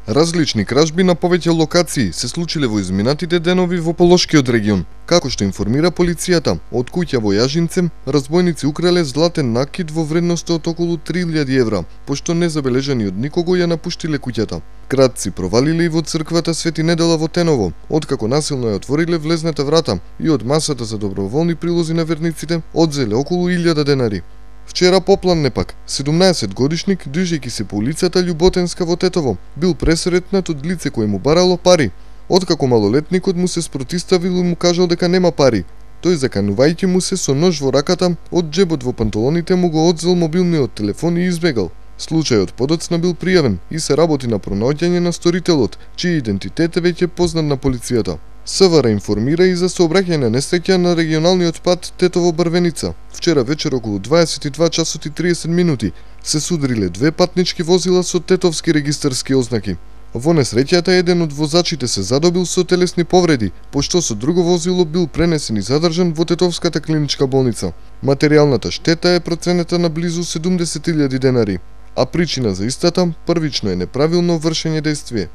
Различни кражби на повеќе локации се случиле во изминатите денови во Полошкиот регион. Како што информира полицијата, од куќа во Јажинце, разбойници украле златен накид во вредност од околу 3000 евра, пошто незабележани од никого ја напуштиле куќата. Кратци провалиле и во црквата Свети Недела во Теново, откако насилно ја отвориле влезната врата и од масата за доброволни прилози на верниците одзеле околу 1000 денари. Вчера попладне пак, 17-годишник, движејќи се по улицата Љуботенска во Тетово, бил пресретнат од лице кое му барало пари. Откако малолетникот му се спротиставил и му кажал дека нема пари, тој заканувајќи му се со нож во раката, од џебот во панталоните му го одзел мобилниот телефон и избегал. Случајот подоцна бил пријавен и се работи на пронаоѓање на сторителот, чиј идентитет е веќе познат на полицијата. СВР информира и за сообраќајна несреќа на регионалниот пат Тетово-Брвеница. Вчера вечер околу 22 часот и 30 минути се судриле две патнички возила со тетовски регистарски ознаки. Во несреќата еден од возачите се задобил со телесни повреди, пошто со друго возило бил пренесен и задржан во Тетовската клиничка болница. Материјалната штета е проценета на близу 70.000 денари, а причина за истата првично е неправилно вршење дејствие.